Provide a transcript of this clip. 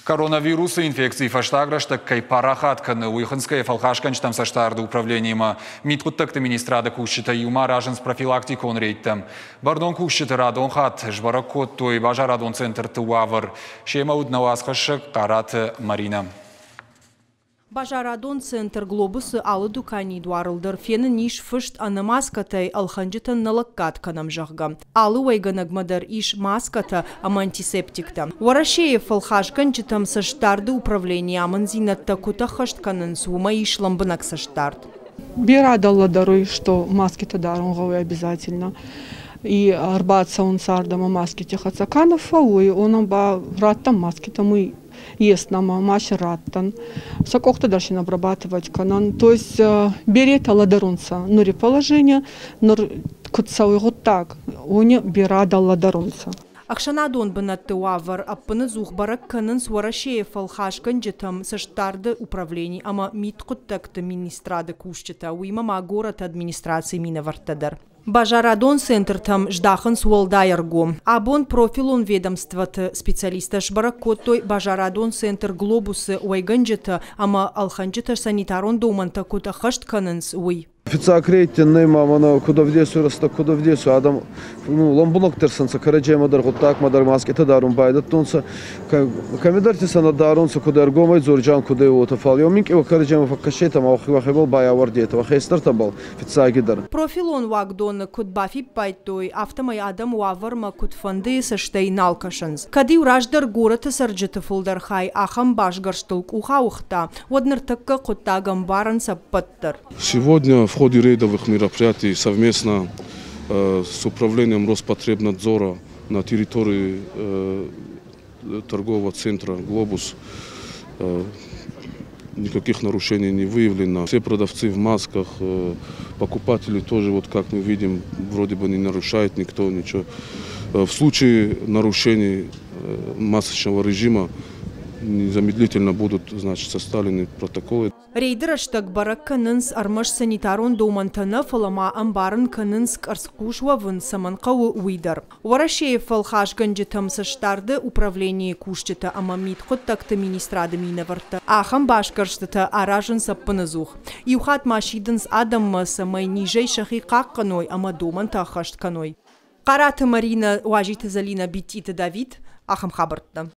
Коронавирусы инфекци фӕстаг рӕстӕг кӕй парахат кӕны, уый хынцгӕйӕ фӕлхасгӕнджытӕм цӕстдарды управлениимӕ мидхъуыддӕгты министрады кусджытӕ иумӕ аразынц профилактикон рейдтӕ. Бӕрнон кусджыты радон хатт сбӕрӕг кодтой базарадон центрты уавӕр. Семӕ уыд нӕ уацхӕссӕг Хъараты Маринӕ. Базарадон центр «Глобус»-ы алы дуканийы дуарыл дӕр фенын ис фыст ӕнӕ маскӕтӕй ӕлхӕнджытӕн нӕ лӕггад кӕнӕм, зӕгъгӕ. Алы уӕйгӕнӕгмӕ дӕр ис маскӕтӕ ӕмӕ антисептиктӕ. Уӕрӕсейы фӕлхасгӕнджытӕм цӕстдарды управленийы амынддзинӕдтӕ куыд ӕххӕст кӕнынц, уымӕ ис лӕмбынӕг цӕстдард. Берӕ лӕдӕруй, что маскитӕ дарун гъӕуй обязательно. И ӕрбацӕунцӕ ардӕмӕ маскити хӕццӕ. Ка нӕ фӕууй, уонӕн ба раттӕн маскитӕ, мы есть нӕмӕ ма си раттӕн. Сӕ къохтӕ дӕр син обрабатывать кӕнӕн. То есть беретӕ лӕдӕрунцӕ нури положение, нур куд цӕуй гъуддаг, уони берӕ лӕдӕрунцӕ. Ӕхсӕнадон бынӕтты уавӕр ӕппынӕдзух бӕрӕг кӕнынц Уӕрӕсейы фӕлхасгӕнджытӕм цӕстдарды управлени ӕмӕ мидхъуыддӕгты министрады кусджытӕ, уыимӕ ма горӕты администрацийы минӕвӕрттӕ дӕр. Базарадон центртӕм здахынц уӕлдай ӕргом. Абон профилон ведомствоты специалисттӕ сбӕрӕг кодтой базарадон центр «Глобус»-ы уӕйгӕнджытӕ ӕмӕ ӕлхӕнджытӕ санитарон домӕнтӕ куыд ӕххӕст кӕнынц, уый. Фиццаг рейдтӕн нӕ ма мӕнӕ куд ӕвдесуй рӕстӕг, куд ӕвдесуй адӕм, ну, лӕмбунӕгдӕр сӕнцӕ кӕрӕдземӕ дӕр, гъуддагмӕ дӕр маскъитӕ дарун байдӕдтонцӕ. Кӕмидӕрти сӕ нӕ дарунцӕ, куд ӕргомӕй дзорджан, куд ӕй уотӕ, фал еу минкъий кӕрӕдземӕ фӕккӕсетӕ ма уӕхебӕл байауӕрдетӕ, уӕ хестӕртӕбӕл фиццагидӕр. Профилон уагдоны куыд бафиппайдтой, афтӕмӕй адӕм уавӕрмӕ куыдфӕндыйы цӕстӕй нал кӕсынц. Кӕд-иу раздӕр горӕты цӕрджыты фылдӕр хай ахӕм басгӕрстыл къух ауыгъта, уӕд ныртӕккӕ хъуыддаг ӕмбарынц ӕппӕт дӕр. Сегодня в ходе рейдовых мероприятий совместно с управлением Роспотребнадзора на территории торгового центра «Глобус» никаких нарушений не выявлено. Все продавцы в масках, покупатели тоже, вот как мы видим, вроде бы не нарушает никто ничего. В случае нарушений масочного режима незамедлительно будут, значит, составлены протоколы. Рейды рӕстӕг бӕрӕг кӕнынц ӕрмӕст санитарон домӕнтӕ нӕ, фӕлӕ ма ӕмбарын кӕнынц къӕрцхъус уӕвын цӕмӕн хъӕуы, уый дӕр. Уӕрӕсейы фӕлхасгӕнджытӕм цӕстдарды управленийы кусджытӕ ӕмӕ мидхъуыддӕгты министрады минӕвӕрттӕ ахӕм басгӕрстытӕ аразынц ӕппынӕдзух. Иу хатт ма сидынц адӕммӕ, цӕмӕй низӕй сӕхи хъахъхъӕной ӕмӕ домӕнтӕ ӕххӕст кӕной. Хъараты Маринӕ, Уазиты Зӕлинӕ, Биттиты Давид. Ахӕм хабӕрттӕ.